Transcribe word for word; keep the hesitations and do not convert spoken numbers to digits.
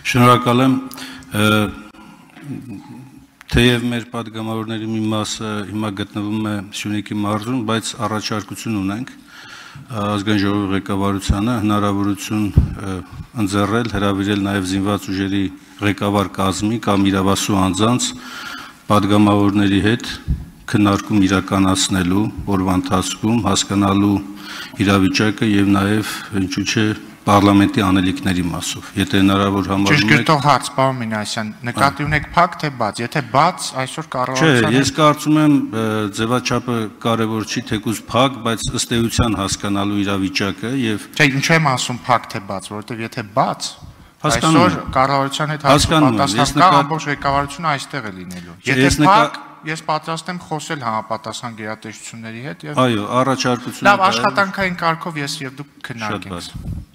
Շնորհակալ եմ, թեև մեր պատգամավորների մի մասը հիմա գտնվում է Սյունիքի մարզում, բայց առաջարկություն ունենք ազգային ժողովի ղեկավարությանը հնարավորություն ընձեռել, հրավիրել նաև զինված ուժերի ղեկավար կազմի կամ իրավասու անձանց պատգամավորների հետ քննարկում իրականացնելու օրվա ընթացքում հասկանալու իրավիճակը եւ նաև ինչու՞ չէ Parlamenti անելիքների մասով, եթե հնարավոր համարում եք... Ճշգրտող հարց, պարոն Մինասյան, նկատի ունեք փակ թե բաց, եթե բաց, այսօր կառավարության... Չէ, ես կարծում եմ ձևաչափը կարևոր չի, թեկուզ փակ, բայց ըստ էության հասկանալու իրավիճակը եւ... Չէ, ինչու եմ ասում փակ թե բաց, որովհետեւ եթե բաց, այսօր կառավարության հետ պատասխան կա, ամբողջ ղեկավարությունը այստեղ է լինելու։ Եթե փակ, ես պատրաստ եմ խոսել համապատասխան գերատեսչությունների հետ եւ... Այո, առաջարկությունը... Լավ, աշխատանքային կարգով ես եւ դուք քննարկենք։